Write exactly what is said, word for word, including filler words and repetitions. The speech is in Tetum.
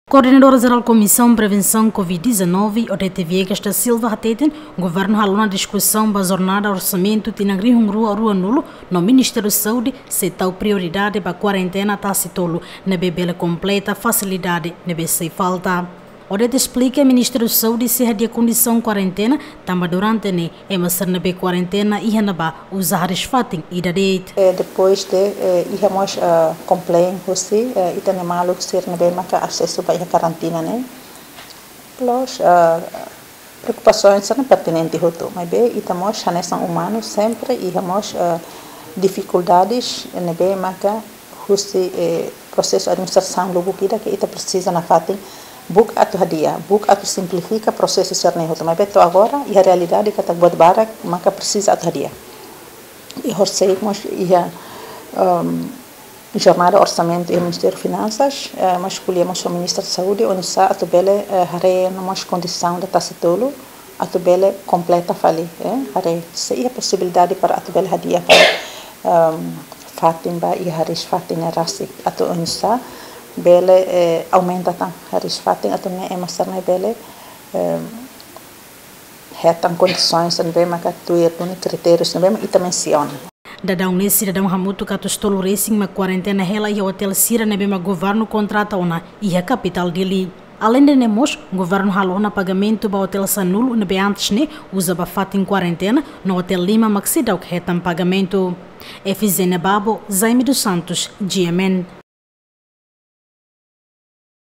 Koordenadora Jerál Komisaun Prevensaun Covid dezanove, Odete Viegas da Silva, hateten governu halo ona diskusaun ba jornada orsamentu tinan rihun rua ruanulu no Ministériu Saúde sei tau prioridade ba kuarentena tasi tolu ne'ebé bele kompleta fasilidade ne'ebé sei falta. Odete esplika Ministériu Saúde sei hadi'a kondisaun kuarentena tanba durante ne'e ema sira ne'ebé kuarentena iha ne'ebá uza hariis-fatin ida de'it. Eh, depois de, eh, iha mós, eh, complain husi, eh, ita-nia maluk sira ne'ebé maka asesu ba iha karantina ne'e. Plus, eh, preokupasaun sira-ne'e pertinente hotu, maibé ita mós hanesan umanu sempre iha mós, eh, difikuldades ne'ebé maka husi, eh, prosesu administrasaun lubuk ida ke ita presiza nafatin buka atu hadi'a, buka atu simplifika prosesu sira-ne'e hotu. Maibé to'o agora iha realidade katak buat barak maka presiza atu hadi'a. I horisehik mós iha, ehm, jornada orsamentu iha Ministériu Finansas, eh, mós ko'alia mós ho Ministra Saúde, oinsá atu bele, eh, haree ona mós kondisaun ida tasi tolu, atu bele kompleta fali, eh, haree se iha posibilidade para atu bele hadi'a fali, ehm, fatin ba iha hariis-fatin ne'e rasik, atu oinsá bele, eh, aumenta tan hariis-fatin, atu nune'e ema sira-ne'e bele, ehm, hetan kondisaun sira ne'ebé maka tuir duni kritériu sira ne'ebé mak ita mensiona. Daudaun ne'e sidadaun hamutuk atus tolu resin mak kuarentena hela iha otél sira ne'ebé mak governu kontrata ona iha kapitál Dili. Aleinde ne'e mós, governu halo ona pagamentu ba otél sanulu ne'ebé antes ne'e uza ba fatin kuarentena, no otél lima mak seidauk hetan pagamentu. Efizénia Babo, Jaime dos Santos, G M N.